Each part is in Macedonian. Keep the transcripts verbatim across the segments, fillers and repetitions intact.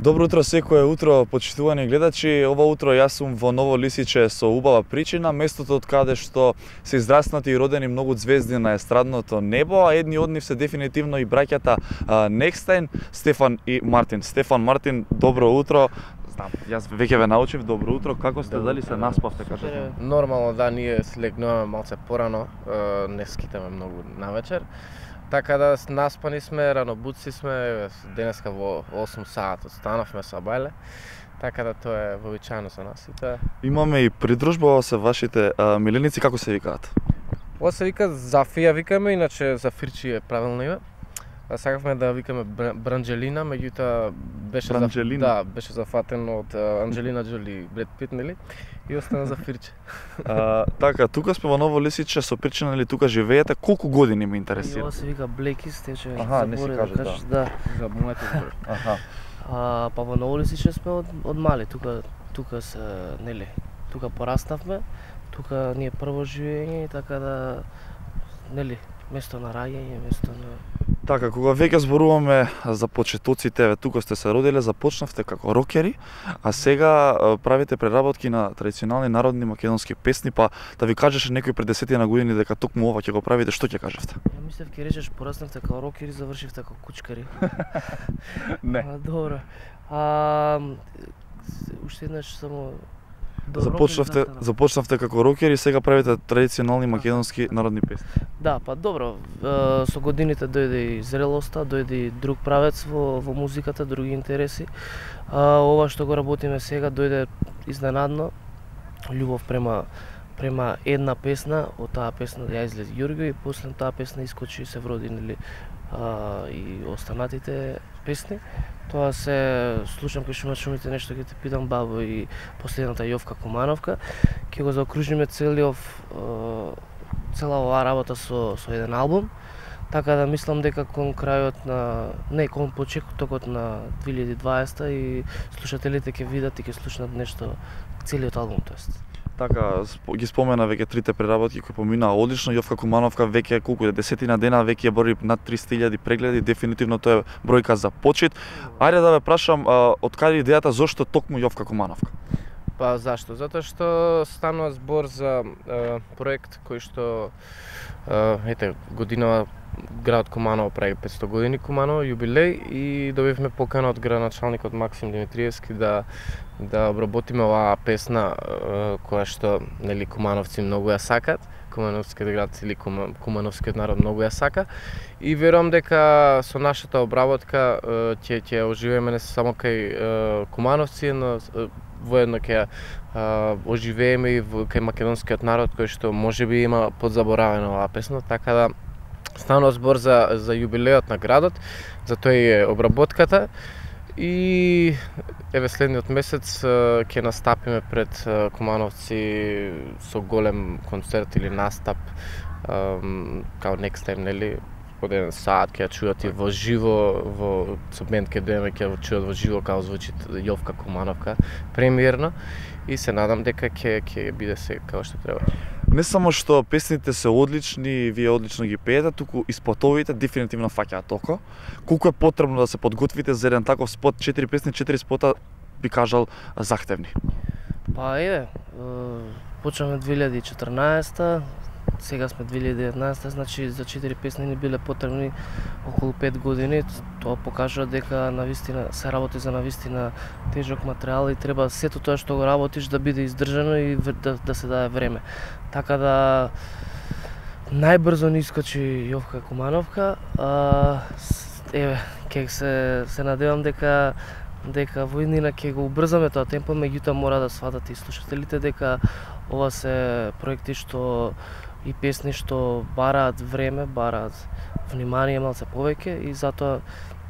Добро утро секое утро, почитувани гледачи. Ова утро јас сум во Ново Лисиче со убава причина, местото од каде што се израснати и родени многу звезди на естрадното небо, а едни од нив се дефинитивно и браќата Некстайн, Стефан и Мартин. Стефан, Мартин, добро утро. Знам, јас веќе ве научив, добро утро. Како сте, дали се наспавте, кажете? Нормално, да, ние слегнуваме малце порано, не скитаме многу навечер. Така да наспани сме, ранобуци сме, денеска во осум саат останавме со бајле. Така да тоа е вообичаено за нас и тоа. Имаме и придружба се вашите а, миленици, како се викаат? Ова се вика Зафија викаме, иначе Зафирчи е правилно име. А сакавме да викаме Бранџелина, меѓутоа беше Бранџелина? Да, беше зафатен од Анџелина Џоли, Бред Пит, нели? И остана Зафирче. А, така, тука сме во Ново Лисиче, со причина нели тука живеете, колку години ме интересира? Ова се вика Блекис, тече. Аха, не си кажеш, да. да. За моето збор. Аха. А, па во Ново Лисиче сме од, од мали, тука тука се, нели, тука пораснавме, тука ние прво живење, така да, нели, место на раѓање, место на... Така, кога веќе зборуваме за почетоците, еве тука сте се родиле, започнавте како рокери, а сега правите преработки на традиционални народни македонски песни, па да ви кажеше некој пред десетина години дека токму ова ќе го правите, што ќе кажевте? Ја мислев ќе речеш пораснавте како рокери, завршивте како кучкари. Не. А, добро. А, уште еднаш само... Добро, Започнавте, да, да. започнавте како рокери, сега правите традиционални македонски народни песни. Да, па добро, е, со годините дојде и зрелоста, дојде и друг правец во, во музиката, други интереси. А, ова што го работиме сега дојде изненадно, љубов према према една песна, од таа песна ја излезе Ѓурѓо и после таа песна искочи и се вроди, нели, а, и останатите песни. Тоа се слушам кај шумат шумите, нешто ќе те питам бабо и последната Јовка Кумановка. Ќе го заокружиме целиот цела оваа работа со со еден албум. Така да мислам дека кон крајот на не кон почетокот на две илјади и дваесета и слушателите ќе видат и ќе слушнат нешто целиот албум, тоест. Така, ги спомена веќе трите преработки кои поминаа одлично. Јовка Кумановка веќе колку десетина дена веќе бори над триста илјади прегледи, дефинитивно тоа е бројка за почит. Ајде да ве прашам, од каде идејата, зошто токму Јовка Кумановка? Па зашто? Затоа што станува збор за е, проект кој што е, ете годинава градот Куманово прави петсто години Куманово јубилеј и добивме покана од градоначалникот Максим Димитриевски да да обработиме оваа песна е, која што нели кумановци многу ја сакат, кумановскиот град или кумановскиот народ многу ја сака и верувам дека со нашата обработка ќе ќе оживееме не само кај кумановци, но воедно ќе оживееме и кај македонскиот народ кој што можеби има подзаборавена оваа песна, така да станува збор за за јубилеот на градот, за тоа е обработката. И еве следниот месец ќе настапиме пред кумановци со голем концерт или настап као Некстайн, нели, од еден саат ќе ја чујат и во живо, во со бенд ќе доеме ќе ја чујат во живо како звучи Јовка Кумановка премиерно и се надам дека ќе ќе биде се како што треба. Не само што песните се одлични, вие одлично ги пеете, туку и спотовите дефинитивно фаќаат око. Колку е потребно да се подготвите за еден таков спот, четири песни, четири спота, би кажал, захтевни? Па еве, почнавме две илјади и четрнаесета, сега сме две илјади и деветнаесета, значи за четири песни ни биле потребни околу пет години. Тоа покажува дека навистина се работи за навистина тежок материјал и треба сето тоа што го работиш да биде издржано и да, да се даде време. Така да најбрзо ни искочи Јовка Кумановка. А, еве, ќе се се надевам дека дека во иднина ќе го убрзаме тоа темпо, меѓутоа мора да сватат и слушателите дека ова се проекти што и песни што бараат време, бараат внимание малце повеќе и затоа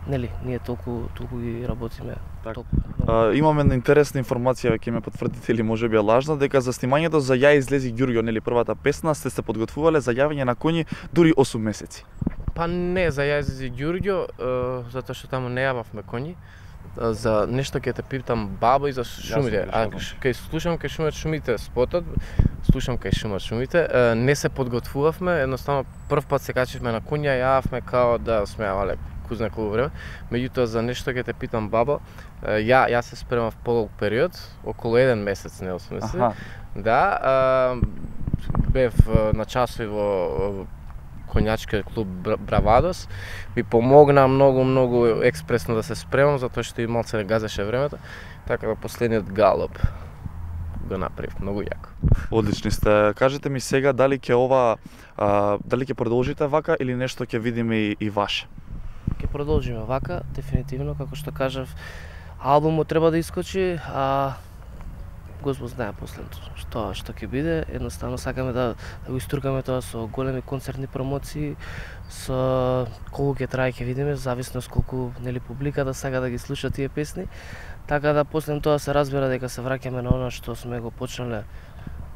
нели ние толку толку ги работиме. Так. Толку. А, имаме интересна информација, ќе ме потврдите или можеби е лажна, дека за снимањето за Ја излези Ѓурѓо, нели првата песна, сте се подготвувале за јавење на коњи дури осум месеци. Па не, за Ја излези Ѓурѓо, затоа што таму не јававме коњи. За нешто ќе те питам баба и за шумите. А кај слушам кај шумат шумите спотот, слушам кај шумат шумите, не се подготвувавме, едноставно прв пат се качивме на коња, јававме као да сме јавале ку знае колку време. Меѓутоа за нешто ќе те питам, бабо, ја ја се спремав подолг период, околу еден месец, не осмисли. Аха. Да, а, бев на часови во конјачкиот клуб Бравадос, ми помогна многу многу експресно да се спремам затоа што и малце не газеше времето, така да последниот галоп го направив многу јако. Одлични сте. Кажете ми сега дали ќе ова а, дали ќе продолжите вака или нешто ќе видиме и, и ваше? Ќе продолжиме вака, дефинитивно, како што кажав, албумот треба да искочи, а Господ знае после што што ќе биде. Едноставно сакаме да, да го истуркаме тоа со големи концертни промоции, со колку ќе трае ќе видиме, зависно од колку нели публиката сака да ги слуша тие песни. Така да после тоа се разбира дека се враќаме на она што сме го почнале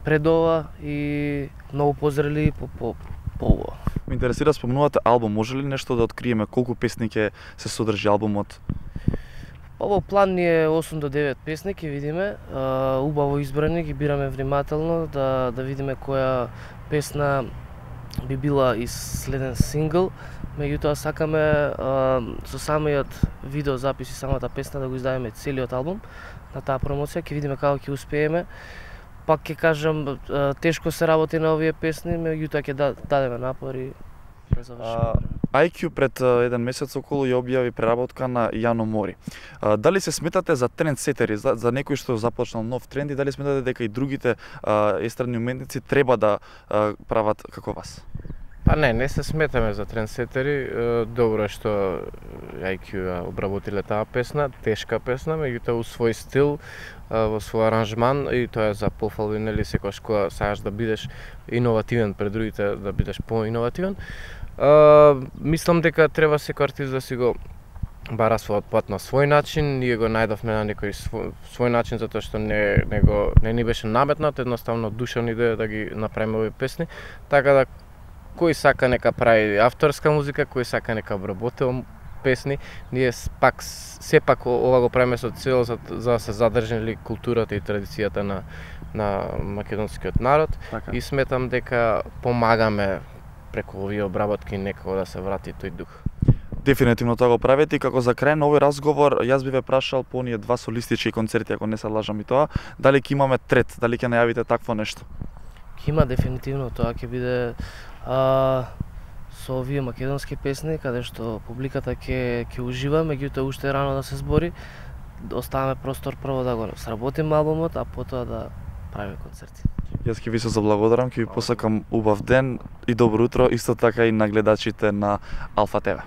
пред ова и многу позрели по по по ова. Ме интересира, спомнувате албум, може ли нешто да откриеме колку песни ќе се содржи албумот? Ово план ни е осум до девет песни, ќе видиме, а, убаво избрани, ги бираме внимателно да да видиме која песна би била и следен сингл. Меѓутоа сакаме а, со самиот видеозапис и самата песна да го издадеме целиот албум на таа промоција, ќе видиме како ќе успееме. Пак ќе кажам, а, тешко се работи на овие песни, меѓутоа ќе дадеме напори. ај кју пред еден месец околу ја објави преработка на Јано Мори. А, дали се сметате за трендсетери, за, за некој што започнал нов тренд и дали сметате дека и другите а, естрадни уметници треба да а, прават како вас? Па не, не се сметаме за трендсетери. Добро е што ај кју ја обработиле таа песна, тешка песна, меѓутоа у свој стил, во свој аранжман, и тоа е за пофалби, нели, секогаш кога сакаш да бидеш иновативен пред другите, да бидеш поиновативен. Мислам дека треба секој артист да си го бара својот пат на свој начин. Ние го најдовме на некој свој, свој начин затоа што не не го не ни беше наметнат, едноставно душевна идеја да ги направиме овие песни, така да кој сака нека прави авторска музика, кој сака нека обработува песни. Ние пак сепак ова го правиме со цел за, за да се задржи културата и традицијата на на македонскиот народ. Така. И сметам дека помагаме преку овие обработки некако да се врати тој дух. Дефинитивно тоа го правите и како за крај на овој разговор јас би ве прашал по оние два солистички концерти, ако не се лажам и тоа, дали ќе имаме трет, дали ќе најавите такво нешто? Ќе има дефинитивно, тоа ќе биде а, со овие македонски песни каде што публиката ќе ќе ужива, меѓутоа уште е рано да се збори. Оставаме простор прво да го сработиме албумот, а потоа да правиме концерти. Јас ќе ви се заблагодарам, ќе ви посакам убав ден и добро утро, исто така и на гледачите на Алфа те ве.